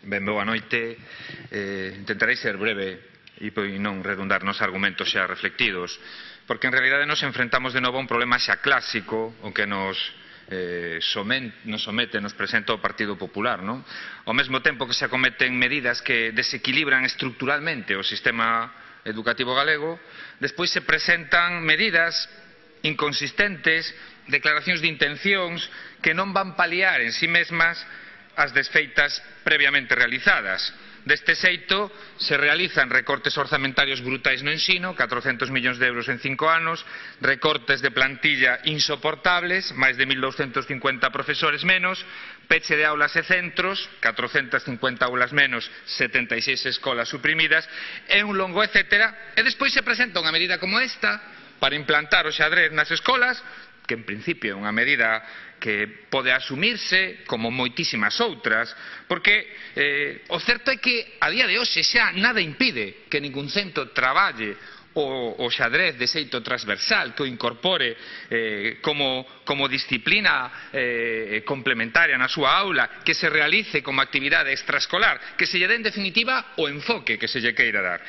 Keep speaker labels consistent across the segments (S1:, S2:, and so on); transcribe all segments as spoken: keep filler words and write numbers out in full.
S1: Ben, boa noite. Eh, intentarei ser breve e non redundar nos argumentos xa reflectidos, porque en realidade nos enfrentamos de novo a un problema xa clásico, o que nos eh, somen, nos somete, nos presenta o Partido Popular, non? Ao mesmo tempo que se acometen medidas que desequilibran estructuralmente o sistema educativo galego, despois se presentan medidas inconsistentes, declaracións de intencións que non van paliar en si mesmas as desfeitas previamente realizadas. Deste xeito, se realizan recortes orzamentarios brutais no ensino, catrocentos millóns de euros en cinco anos, recortes de plantilla insoportables, máis de mil douscentos cincuenta profesores menos, peche de aulas e centros, catrocentas cincuenta aulas menos, setenta e seis escolas suprimidas, e un longo etcétera, e despois se presenta unha medida como esta para implantar o xadrez nas escolas, que en principio é unha medida que pode asumirse como moitísimas outras, porque eh, o certo é que a día de hoxe xa nada impide que ningún centro traballe o, o xadrez de xeito transversal, que o incorpore eh, como, como disciplina eh, complementaria na súa aula, que se realice como actividade extraescolar, que se lle dé en definitiva o enfoque que se lle queira dar.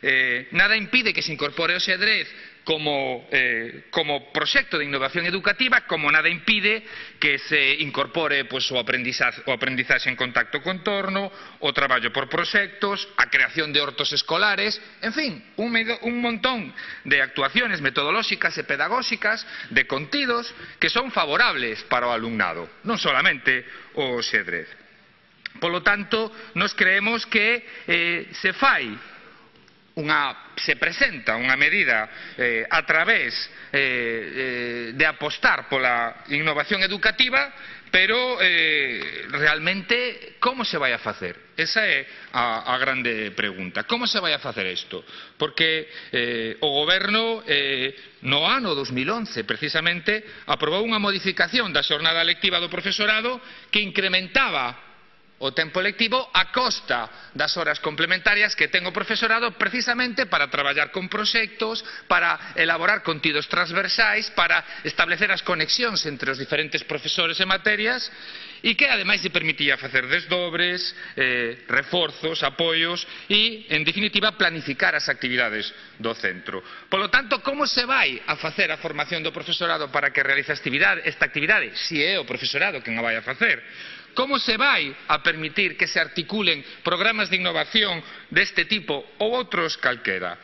S1: Eh, nada impide que se incorpore o xadrez Como, eh, como proxecto de innovación educativa, como nada impide que se incorpore pues, o, aprendizaje, o aprendizaxe en contacto co entorno, o traballo por proxectos, a creación de hortos escolares, en fin, un, un montón de actuaciones metodolóxicas e pedagóxicas, de contidos, que son favorables para o alumnado, non solamente o xadrez. Polo tanto, nos creemos que eh, se fai Unha, se presenta unha medida eh, a través eh, eh, de apostar pola innovación educativa, pero eh, realmente como se vai a facer? Esa é a, a grande pregunta. Como se vai a facer isto? Porque eh, o goberno eh, no ano dos mil once precisamente aprobou unha modificación da xornada lectiva do profesorado que incrementaba o tempo lectivo a costa das horas complementarias que ten o profesorado precisamente para traballar con proxectos, para elaborar contidos transversais, para establecer as conexións entre os diferentes profesores e materias e que ademais lle permitía facer desdobres, eh, reforzos, apoios e, en definitiva, planificar as actividades do centro. Polo tanto, como se vai a facer a formación do profesorado para que realice esta actividade, se é o profesorado quen a vai a facer? Como se vai a permitir que se articulen programas de innovación deste tipo ou outros calquera?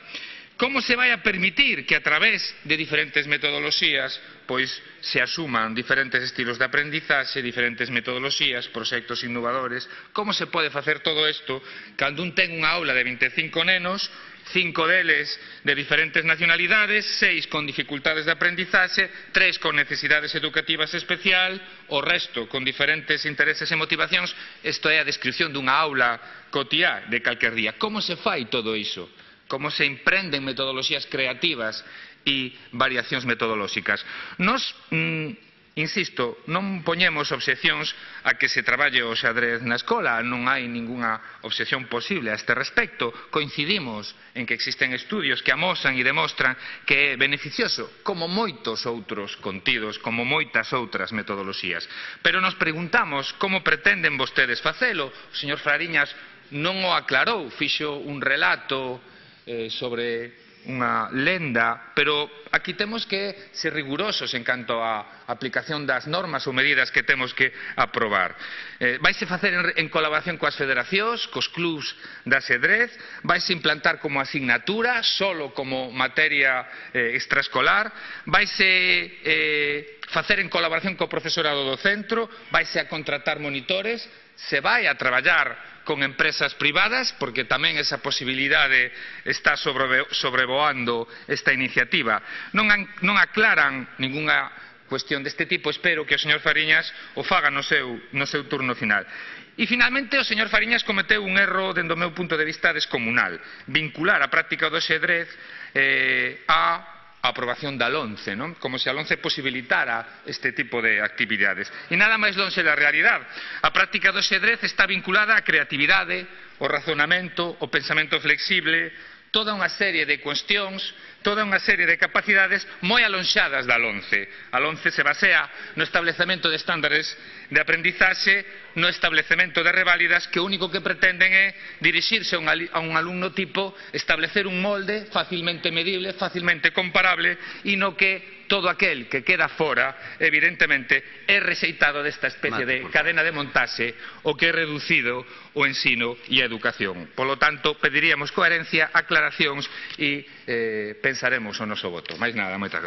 S1: Como se vai a permitir que a través de diferentes metodoloxías pois se asuman diferentes estilos de aprendizaxe, diferentes metodoloxías, proxectos innovadores? Como se pode facer todo isto cando un ten unha aula de vinte e cinco nenos, cinco deles de diferentes nacionalidades, seis con dificultades de aprendizaxe, tres con necesidades educativas especial, o resto con diferentes intereses e motivacións? Isto é a descripción dunha aula cotiá de calquer día. Como se fai todo iso? Como se emprenden metodoloxías creativas e variacións metodolóxicas? Nos, mm, insisto, non poñemos obxeccións a que se traballe o xadrez na escola, non hai ningunha obxección posible a este respecto. Coincidimos en que existen estudios que amosan e demostran que é beneficioso, como moitos outros contidos, como moitas outras metodoloxías. Pero nos preguntamos como pretenden vostedes facelo. O señor Fariñas non o aclarou, fixo un relato eh, sobre unha lenda, pero aquí temos que ser rigurosos en canto á aplicación das normas ou medidas que temos que aprobar. Eh, vaise facer en, en colaboración coas federacións, cos clubs de xadrez, vaise implantar como asignatura, solo como materia eh, extraescolar, vaise eh, facer en colaboración co profesorado do centro, vaise a contratar monitores, se vai a traballar con empresas privadas, porque tamén esa posibilidade está sobrevoando esta iniciativa. Non, non aclaran ningunha cuestión deste tipo, espero que o señor Fariñas o faga no seu, no seu turno final. E, finalmente, o señor Fariñas cometeu un erro, dende o meu punto de vista, descomunal. Vincular a práctica do xadrez eh, a a aprobación da LOMCE, non? Como se a LOMCE posibilitara este tipo de actividades. E nada máis lonxe da realidade. A práctica do xadrez está vinculada á creatividade, o razonamento, o pensamento flexible, toda unha serie de cuestións, toda unha serie de capacidades moi alonxadas da LOMCE. A LOMCE se basea no establecemento de estándares de aprendizaxe, no establecemento de reválidas que o único que pretenden é dirixirse a un, a un alumno tipo, establecer un molde facilmente medible, facilmente comparable e no que todo aquel que queda fora, evidentemente, é rexeitado desta especie de cadena de montaxe o que é reducido o ensino e a educación. Polo tanto, pediríamos coherencia, aclaracións e eh, pensaremos o noso voto. Mais nada, moitas gracias.